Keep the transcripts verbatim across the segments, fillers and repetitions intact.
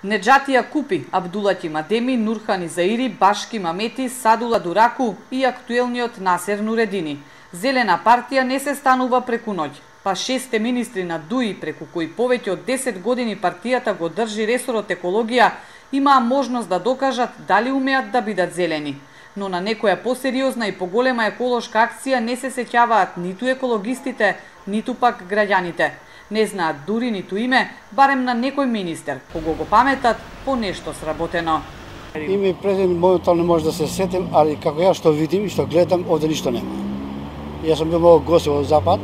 Неджатија Купи, Абдулати Мадеми, Нурхан Изаири, Башки Мамети, Садула Дураку и актуелниот Насер Нуредини. Зелена партија не се станува преку ноќ, па шесте министри на ДУИ, преку кои повеќе од десет години партијата го држи ресорот екологија, имаа можност да докажат дали умеат да бидат зелени. Но на некоја посериозна и поголема еколошка акција не се сеќаваат ниту екологистите, ниту пак граѓаните. Не знаат дури ниту име, барем на некој министер, кого го паметат по нешто сработено. Име и презиме моментално не може да се сетим, али како ја што видим и што гледам, овде ништо нема. Јас сум бил многу гости во Запад,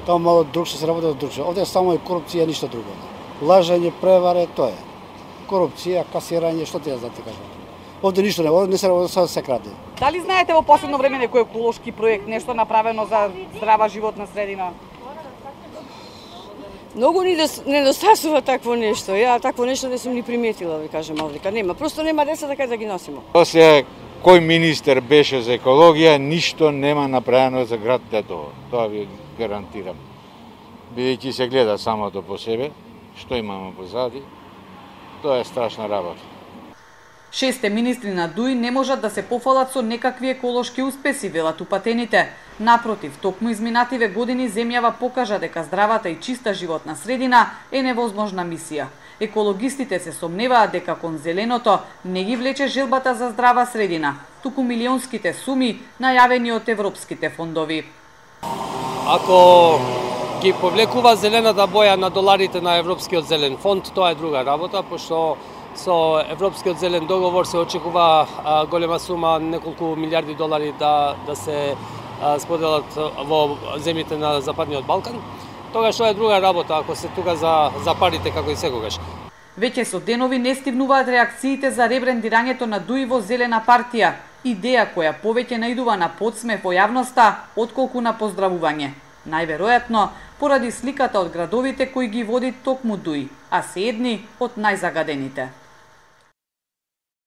таму мало друг што се работи друг. Овде само е корупција, ништо друго. Лажење, преваре, тоа е. Корупција, касирање, што ти ја знате кажам. Овде ништо не, овде не се работи, се краде. Дали знаете во последно време некој еколошки проект, нешто направено за здрава животна средина? Многу ни недостасува такво нешто. Ја такво нешто не сум ни приметила, ви кажам овдека. Нема, просто нема деца така да ги носимо. После кој министер беше за екологија, ништо нема направено за град Тетово. Тоа ви гарантирам. Бидејќи се гледа самото по себе, што имаме позади, тоа е страшна работа. Шесте министри на ДУИ не можат да се пофалат со некакви еколошки успеси, велат упатените. Напротив, токму изминативе години земјава покажа дека здравата и чиста животна средина е невозможна мисија. Екологистите се сомневаат дека кон зеленото не ги влече желбата за здрава средина, туку милионските суми најавени од европските фондови. Ако ги повлекува зелената боја на доларите на Европскиот зелен фонд, тоа е друга работа, пошто со Европскиот зелен договор се очекува а, голема сума, неколку милиарди долари да, да се а, споделат во земјите на Западниот Балкан. Тогаш тоа е друга работа, ако се тука за, за парите како и секогаш. Веќе со денови не стигнуваат реакциите за ребрендирањето на ДУИ во Зелена партија, идеја која повеќе наидува на подсмев во јавноста, отколку на поздравување. Најверојатно, поради сликата од градовите кои ги води токму ДУИ, а се едни од најзагадените.